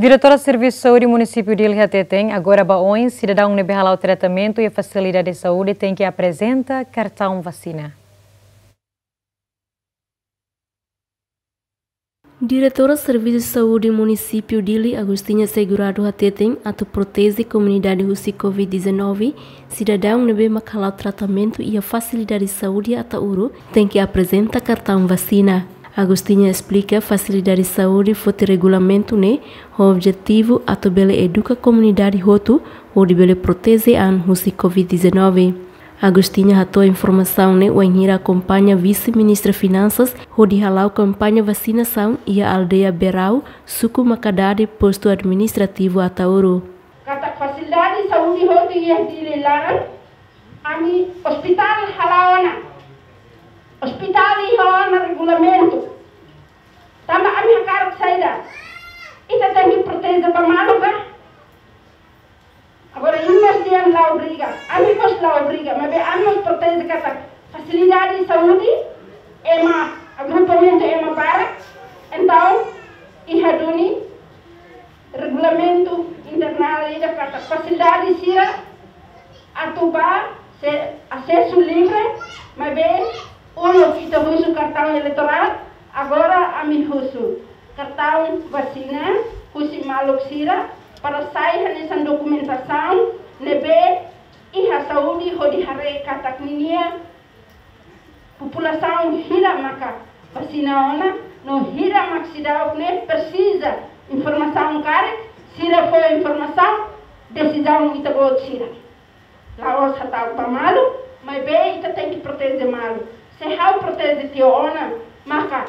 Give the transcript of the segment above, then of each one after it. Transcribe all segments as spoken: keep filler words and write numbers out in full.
Diretora Servisu Saúde Munisípiu Dili hateten, agora ba oin, sidadaun ne'ebé hala'o tratamentu iha fasilidade saúde tenke aprezenta kartaun vasina. Diretora Servisu Saúde Munisípiu Dili, Agostinha Segurado hateten, atu proteje komunidade husi covid dezanove, sidadaun ne'ebé mak hala'o tratamentu iha fasilidade saúde Ataúro tenke aprezenta kartaun vasina. Agostinha esplika, fasilidade saúde foti regulamentu ne'e ho objetivu atu bele eduka komunidade hotu hodi bele proteje an husi covid dezanove. Agostinha hato'o informasaun ne'e wainhira akompaña Vise-Ministra Finansas hodi hala'o kampaña vasinasaun iha aldeia Berau, suku Makadade, postu administrativu Ataúro. Katak fasilidade saúde hotu iha Dili laran, ami ospitál hala'o ona. Ospitál iha ona regulamentu. Tanba ami hakarak saida? Ita tenke proteje ba malu ka? Agora, imi mós dehan la obriga, ami mós la obriga, maibé ami mós proteje katak fasilidade saúde, ema, agrupamentu ema barak, entaun, iha duni regulamentu internál ida katak fasilidade sira atu ba se asesu livre, maibé uluk ita husu kartaun eleitorál, agora ami husu kartaun vasina husi maluk sira para sai hanesan dokumentasaun ne'ebé iha saúde hodi haree katak ninia populasaun hira maka vasina ona, no hira mak seidauk ne'e presiza informasaun karik, sira fó informasaun, desizaun ita-boot sira. La'ós hatán ba malu, maibé ita tenke proteje malu. Se ha'u proteje tiha ona, maka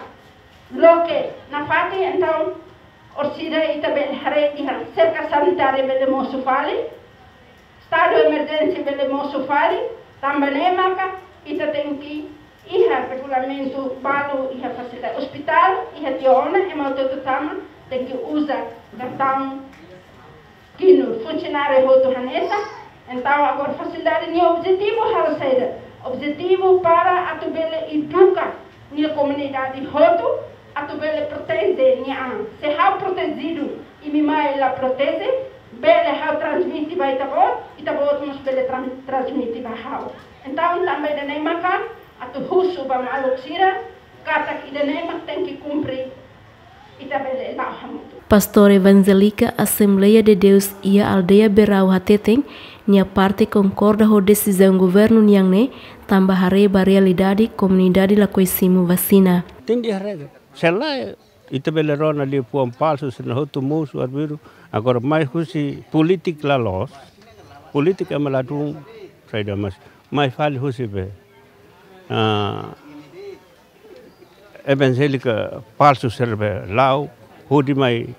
loke nafatin, entaun orsida ita bele haree iha serka sanitária bele mosu fali, estadu emerjénsia bele mosu fali, tanba ne'e maka ita tenke iha regulamentu balu iha fasilidade ospitál, iha tiha ona, ema hotu-hotu tama, tenke uza kartaun kinu, funsionáriu hotu hanesan. Entaun, agora fasilidade nia objetivu halo saida? Objetivu para atu bele eduka nia komunidade hotu, atu bele proteje nia an. Se ha'u protejidu, imi mai la proteje, bele ha'u transmite ba ita-boot, ita-boot mós bele tran-, transmite ba ha'u. Entaun, tanba ida-ne'e maka atu husu ba maluk sira, katak ida-ne'e mak tenke kumpre, ita bele la'o hamutuk. Pastór Evanjélika Assembleia de Deus iha aldeia Berau hateten, nia parte konkorda ho desizaun governu nian ne'e, tanba haree ba realidade komunidade lakohi simu vasina. Tenke haree. Se lae, ita bele rona liafuan falsu, sira hotu mosu arbiru, agora mai husi polítika la loos, polítika ema ladún, saida mais, mai fali husi be, ah, evanjélika falsu sira be la'o, hodi mai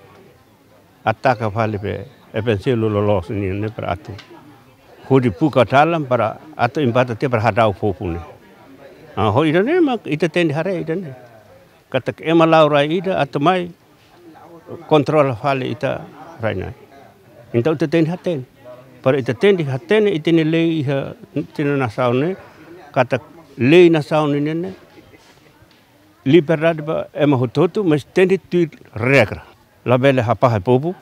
ataka fali be evanjellu loloos nian ne'e para atu hodi buka dalan para atu embate tiha para hadau povu ne'e. Ah, ho ida-ne'e mak ita tenke haree ida-ne'e. Katak ema la'o rai ida atu mai kontrola fali ita rai-na'in. Entaun ita tenke hatene. Para ita tenke hatene ita-nia lei iha ita-nia nasaun ne'e, katak lei nasaun ne'e ne'e, liberdade ba ema hotu-hotu, mas tenke tuir regra. Labele hafahe povu,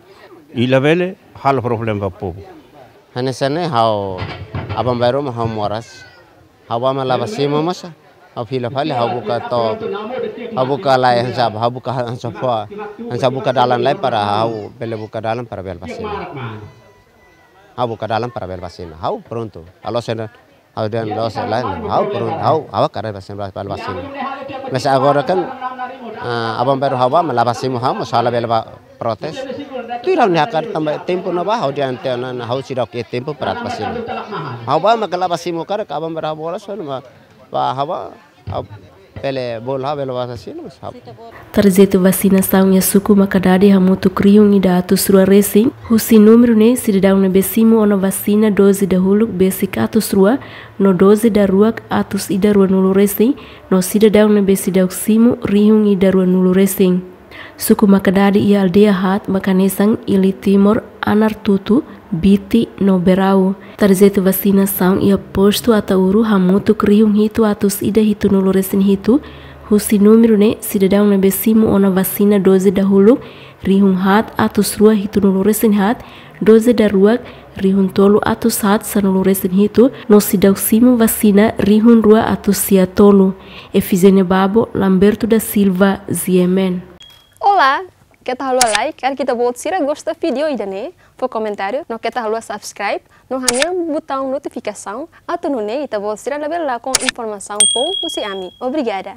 i labele halo problema ba povu. Hanesan ne'e ha'u aban-bainrua mak ha'u moras. Ha'u bá mak la bá simu mós. Ha'u fila fali, ha'u buka to'o, ha'u buka lai hanesan, ha'u buka hanesan fó, hanesan buka dalan lai para ha'u bele buka dalan para bele bá simu. Ha'u buka dalan para bele bá simu. Ha'u prontu. Ha'u la'ós ida, ha'u dehan la'ós lae, ha'u prontu. Ha'u, ha'u hakarak bá simu, bele bá simu. Mas agora kan, ah, aban-bainrua ha'u bá mak la bá simu, ha'u mós ha'u labele bá protes. Tuir ha'u-nia hakarak tanba tempu ne'ebá, ha'u dehan tiha ona, ha'u seidauk iha tempu para bá simu. Ha'u bá mak la bá simu karik aban-bainrua ha'u bolu só, mas ba ha'u bá, ha'u bele bolu ha'u bele bá simu, mas ha'u. Tarjetu vasinasaun iha suku Makadade hamutuk rihun ida atus rua resin, husi númeru ne'e sidadaun ne'ebé simu ona vasina doze dahuluk besik atus rua, no doze daruak atus ida ruanulu resin, no sidadaun ne'ebé seidauk simu rihun ida ruanulu resin. Suku Makadade iha aldeia haat mak hanesan Ili Timor, Anartutu, Biti no Berau. Tarjetu vasinasaun iha postu Ataúro hamutuk rihun hitu atus ida hitunulu resin hitu, husi númeru ne'e sidadaun ne'ebé simu ona vasina doze dahuluk rihun haat atus rua hitunulu resin haat, doze daruak rihun tolu atus haat sanulu resin hitu, no seidauk simu vasina rihun rua atus sia tolu. Efigénia Babo, Lamberto da Silva, G M N. Olá, keta haluha like, karik ita-boot sira gosta vídeo ida-ne'e, fó komentáriu, no keta haluha subscribe, no hanehan butaun notifikasaun, atu nune'e ita-boot sira labele lakon informasaun foun husi ami. Obrigada.